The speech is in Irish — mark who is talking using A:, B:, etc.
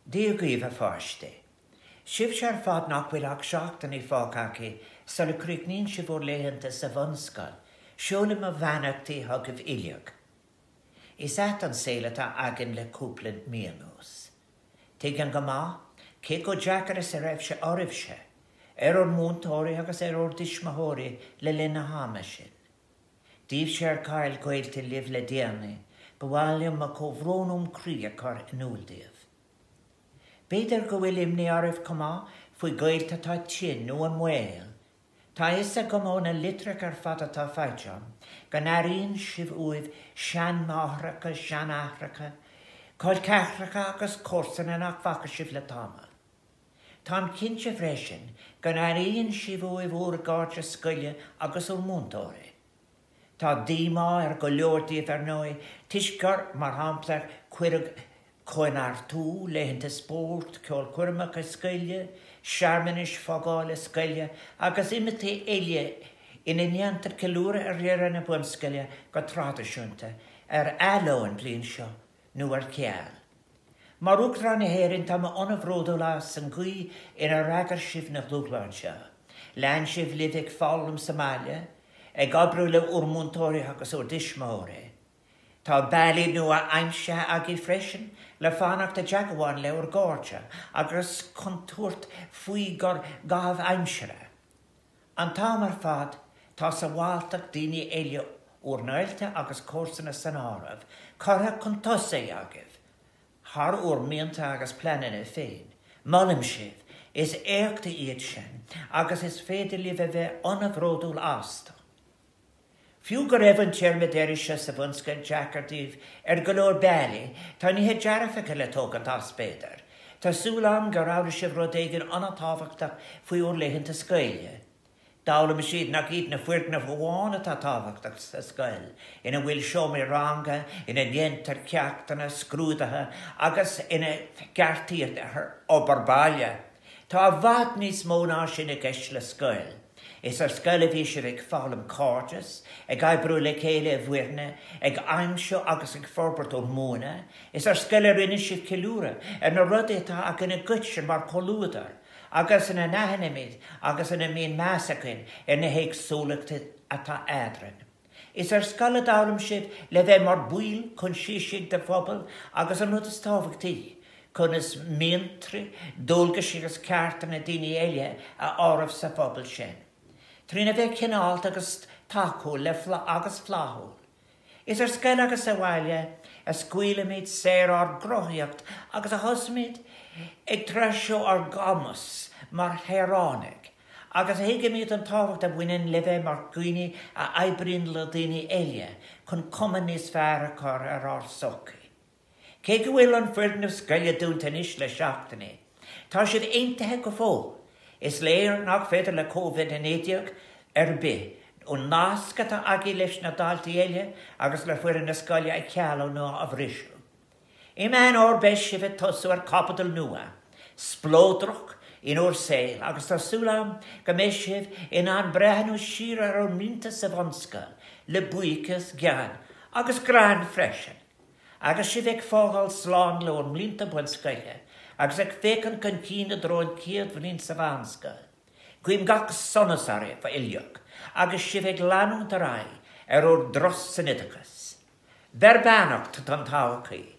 A: Dia dhaoibh, a pháistí. Sibhse ar fad nach bhfuil ach seachtainí fágtha agaibh sula gcríochnaíonn sibh bhur laethanta sa bhunscoil, seolaim mo bheannachtaí chugaibh uilig. Is ait an saol atá againn le cúpla mí anuas. Tuigim go maith cé chomh deacair is a raibh sé oraibhse, ar bhur múinteoirí agus ar bhur dtuismitheoirí le linn na hama sin. Daoibhse ar chaill gaolta libh le déanaí, ba mhaith liom mo chomhbhrón óm chroí a chur in iúl daoibh. B'fhéidir go bhfuil imní oraibh chomh maith faoi ghaolta atá tinn nó i mbaol. Tá a fhios agam ó na litreacha ar fad atá faighte agam go n-airíonn sibh uaibh seanmháithreacha, seanaithreacha, col ceathracha agus comharsana nach bhfaca sibh le tamall. Táim cinnte freisin go n-airíonn sibh uaibh bhur gcairde scoile agus bhur múinteoirí. Tá díomá ar go leor díobh ar ndóigh toisc gur, mar shampla, cuireadh cóineartú, laethanta spóirt, ceolchoirmeacha scoile, searmanais fágála scoile agus imeachtaí eile ina ndéantar ceiliúradh ar dheireadh na bunscoile go traidisiúnta, ar athló an bhliain seo nó ar ceal. Mar Uachtarán na hÉireann, tá mé an-bhródúil as an gcaoi inar fhreagair sibh na dúshláin seo. Lean sibh libh ag foghlaim sa mbaile, ag oibriú le bhur múinteoirí agus bhur dtuismitheoirí. Tá bealaí nua aimsithe agaibh freisin le fanacht i dteagmháil le bhur gcairde agus chun tabhairt faoi bhur gcaitheamh aimsire. An t-am ar fad, tá sábháilteacht daoine eile, bhur ngaolta agus comharsana san áireamh, curtha chun tosaigh agaibh, thar bhur mianta agus pleananna féin. Molaim sibh, is éachtaí iad sin agus is féidir libh a bheith an-bhródúil astu. Fiú go raibh an téarma deiridh seo sa bhunscoil deacair daoibh ar go leor bealaí, tá nithe dearfacha le tógaint as, b'fhéidir. Tá súil agam gur fhoghlaim sibh rud éigin an-tábhachtach faoi bhur laethanta scoile. D'fhoghlaim sibh nach iad na foirgnimh amháin atá tábhachtach sa scoil, ina bhfuil seomraí ranga, ina ndéantar ceachtanna, scrúduithe agus ina gceartaítear obair baile. Tá i bhfad níos mó ná sin i gceist le scoil. Is ar scoil a bhí sibh ag foghlaim cairdeas, ag oibriú le chéile i bhfoirne, ag aimsiú agus ag forbairt bhur mbuanna. Is ar scoil a rinne sibh ceiliúradh ar na rudaí atá againn i gcoiteann mar chomhluadar, agus ina n-aithnímid agus ina mbíonn meas againn ar na héagsúlachtaí atá eadrainn. Is ar scoil a d'fhoghlaim sibh le bheith mar bhaill choinsiasaigh de phobal agus an rud is tábhachtaí, conas mianta, dualgais agus cearta na daoine eile a áireamh sa phobal sin. Trína bheith cineálta agus tacúil le agus flaithiúil. Is ar scoil agus sa bhaile a scaoilimid saor ár gcruthaíocht agus a thosaímid ag treisiú ár gcumas mar shaoránaigh agus a thuigimid an tábhacht a bhaineann le bheith mar dhaoine a oibríonn le daoine eile chun cuma níos fearr a chur ar ár sochaí. Cé go bhfuil an foirgneamh scoile dúnta anois le seachtainí, tá sibh aontaithe go fóill. Is léir nach féidir le Covid-19 ar bith an nasc atá agaibh leis na daltaí eile agus le foireann na scoile a chealú ná a bhriseadh. I Meán Fhómhair beidh sibh ag tosú ar chaibidil nua, spleodrach in bhur saol agus tá súil agam go mbeidh sibh in ann breathnú siar ar bhur mblianta sa bhunscoil le buíochas, gean agus greann freisin! Agus sibh ag fágáil slán le bhur mblianta bunscoile agus ag féachaint chun cinn i dtreo an chéad bhliain sa mheánscoil, guím gach sonas oraibh uilig agus sibh ag leanúint ar aghaidh ar bhur dturas san oideachas. Beir beannacht don todhchaí.